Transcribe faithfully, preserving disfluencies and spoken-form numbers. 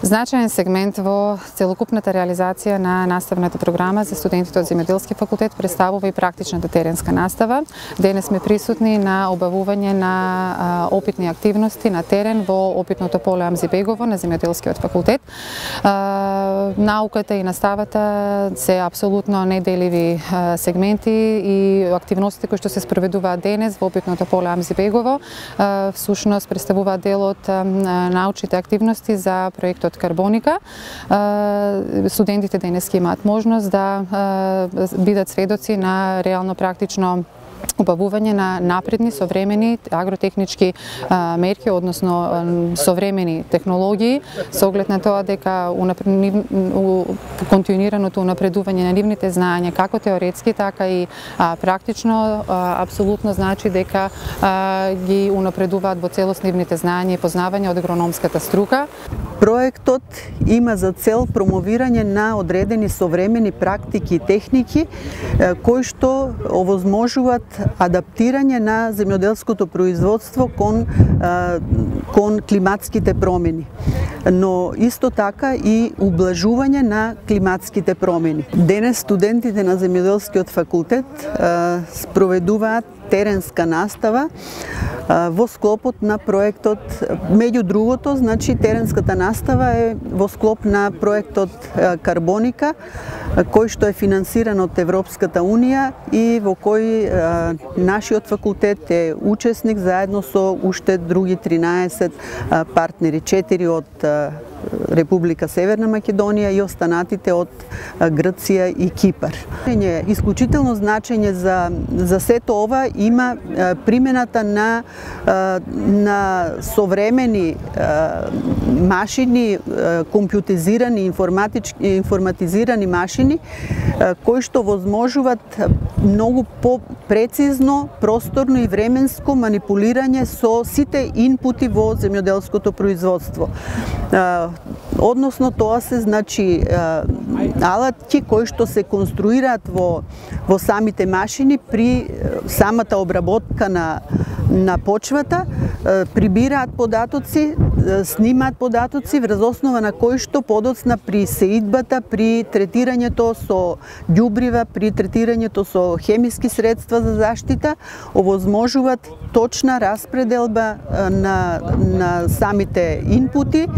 Значаен сегмент во целокупната реализација на наставната програма за студентите од Земјоделски факултет представува и практичната теренска настава. Денес сме присутни на обавување на опитни активности на терен во опитното поле Амзибегово на Земјоделскиот факултет. Науката и наставата се апсолутно неделиви сегменти и активностите кои што се спроведуваат денес во опитното поле Амзибегово всушност представуваат дел од научните активности за проектот Карбоника. Студентите денес ќе имаат можност да бидат сведоци на реално практично обавување на напредни, современи агротехнички мерки, односно современи технологии, со оглед на тоа дека континуираното унапредување на нивните знаења, како теоретски, така и практично, апсолутно значи дека ги унапредуваат во целост нивните знаења и познавање од агрономската струка. Проектот има за цел промовирање на одредени современи практики и техники кои што овозможуваат адаптирање на земјоделското производство кон, кон климатските промени, но исто така и ублажување на климатските промени. Денес студентите на Земјоделскиот факултет спроведуваат теренска настава во склопот на проектот. Меѓу другото, значи теренската настава е во склоп на проектот Карбоника, кој што е финансиран од Европската унија и во кој нашиот факултет е учесник заедно со уште други тринаесет партнери, четири од Република Северна Македонија и останатите од Грција и Кипар. Исклучително значење за за сето ова има примената на на современи машини, компјутеризирани, информатички информатизирани машини кои што возможуваат многу по-прецизно, просторно и временско манипулирање со сите инпути во земјоделското производство. Односно тоа се значи алатки кои што се конструираат во во самите машини при самата обработка на на почвата, прибираат податоци, снимаат податоци врз основа на кои што подоцна при сеидбата, при третирањето со ѓубрива, при третирањето со хемиски средства за заштита овозможуваат точна распределба на на самите инпути.